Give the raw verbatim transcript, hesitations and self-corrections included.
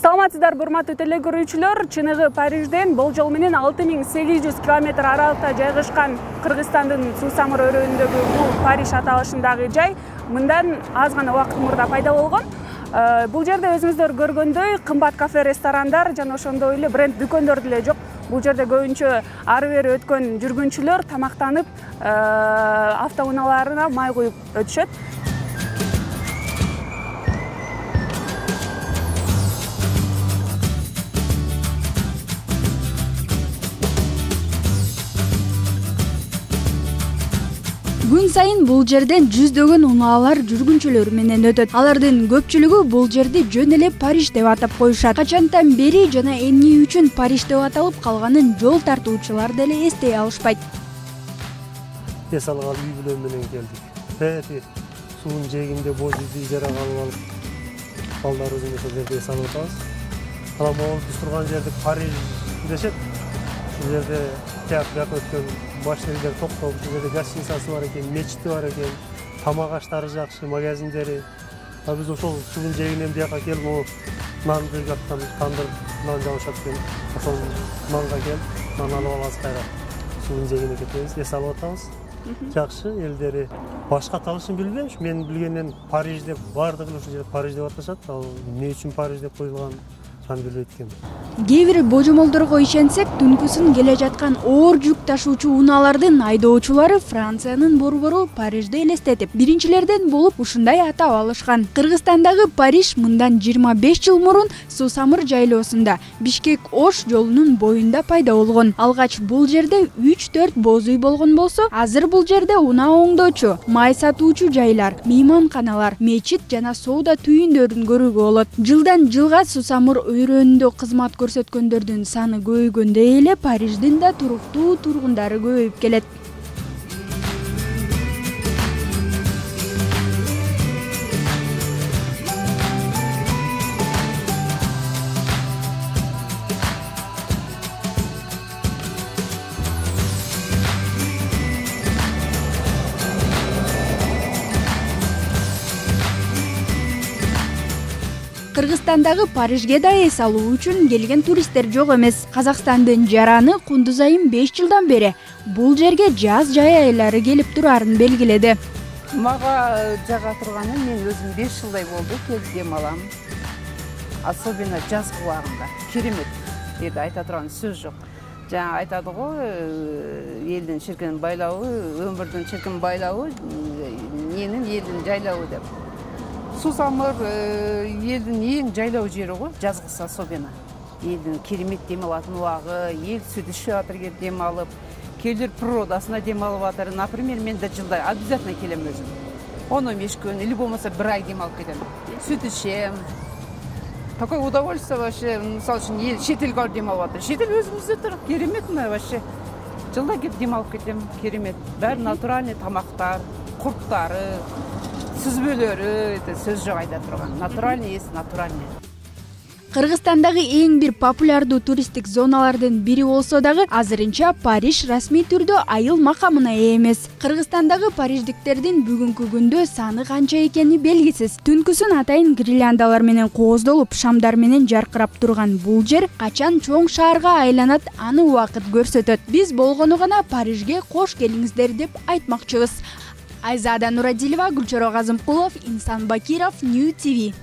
Саламатсыздарбы, урматтуу теле көрүүчүлөр. Чыныгы Парижден болжол менен алты миң сегиз жүз километр аралыкта жайгашкан Кыргызстандын Сусамыр өрөөнүндөгү бул Париж аталышындагы жай мындан аз гана убакыт мурда пайда болгон. Бул жерде өзүңүздөр көргөндөй кымбат кафе, ресторандар жана ошондой эле бренд дүкөндөр деле жок. Бул жерде көбүнчө ары бери өткөн жүргүнчүлөр тамактанып, автоунааларына май куюп өтүшөт. Күн сайын бул жерден жүздөгөн унаалар жүргүнчүлөр менен өтөт. Алардын көпчүлүгү бул жерди жөн эле Париж деп атап коюшат. Качантан бери жана эмне үчүн Париж деп аталып калганын жол тартуучулар деле эстей алышпайт. Эс алган үй бүлө менен келдик. Бери суунун жээгинде боз үйдү ижарага алып алып, балдарыбыз ошол жерде эс алып атабыз. Анан могул биз турган жерди Париж дешет. Бул жерде театр өткөн машиналар токтоп, бул жерде гостиницасы бар экен, мечити бар экен, тамак аштары жакшы, магазиндери. А биз ошол суунун жээгинен бияка келип, могу нанды жактан тандыр нан жабышат экен. Ошол нанга келип, нан алып алабыз кайра. Суунун жээгине кетебиз, эс алып атабыз. Жакшы, элдери башка аталышын билбейм. Мен билгенден Париж деп, бардыгы ушул жерде Париж деп аташат. Ал эмне үчүн Париж деп коюлган аны билбейт экенмин. Кээ бир божомолдорго ишенсек, түнкүсүн келе жаткан оор жүк ташуучу унаалардын айдоочулары Франциянын борбору Парижди элестетип, биринчилерден болуп ушундай атап алышкан. Кыргызстандагы Париж мындан жыйырма беш жыл мурун Сусамыр жайлоосунда, Бишкек-Ош жолунун боюнда пайда болгон. Алгач бул жерде үч төрт боз үй болгон болсо, азыр бул жерде унаа оңдоочу, май сатуучу жайлар, мейманканалар, мечит жана соода түйүндөрүн көрүүгө болот. Жылдан жылга Сусамыр өрөөнүндө кызмат көрсөткөндөрдүн саны көбөйгөндөй эле Париждин да туруктуу тургундары көбөйүп келет. Кыргызстандагы Парижге да эс алуу үчүн келген туристтер жок эмес. Казакстандын жараны Кундуз айым беш жылдан бери бул жерге жаз жай айлары келип турарын белгиледи. Мага жага турганы мен өзүм беш жылдай болду, келип дем алам. Особенно жаз убагында. Керемет. Жерде айта турган сөз жок. Жана айтады го, элдин чиркин байлабы, өмүрдүн чиркин байлабы, менин элдин жайлабы деп. Сусамыр элдин эң жайлоо жери го, жазгысы особенно. Элдин керемет дем алатын убагы, эл сүт ичип атыр келип дем алып, келер природасына дем алып атыр. Например, мен да жылда обязательно келем өзүм. он он беш күн или болмаса бир ай дем алып кетем. Сүт ичем. Такое удовольствие вообще. Мисалы үчүн эл чет элге барып дем алып атыр. Чет эл өзүбүздө тур, керемет мына вообще. Жылда келип дем алып кетем, керемет. Баары натуральный тамактар, курттары, сүзбөлөрү, сөз жок айта турган. Натуральный эс, натуральный. Кыргызстандагы эң бир популярдуу туристтик зоналардын бири болсо дагы, азырынча Париж расмий түрдө айыл макамына ээ эмес. Кыргызстандагы париждиктердин бүгүнкү күндө саны канча экени белгисиз. Түнкүсүн атайын гирляндалар менен кооздолуп, шамдар менен жаркырап турган бул жер качан чоң шаарга айланат, аны убакыт көрсөтөт. Биз болгону гана Парижге кош келиңиздер деп айтмакчыбыз. Айзада Нурадилова, Гүлчоро Казымкулов, Инсан Бакиров, Нью ти ви.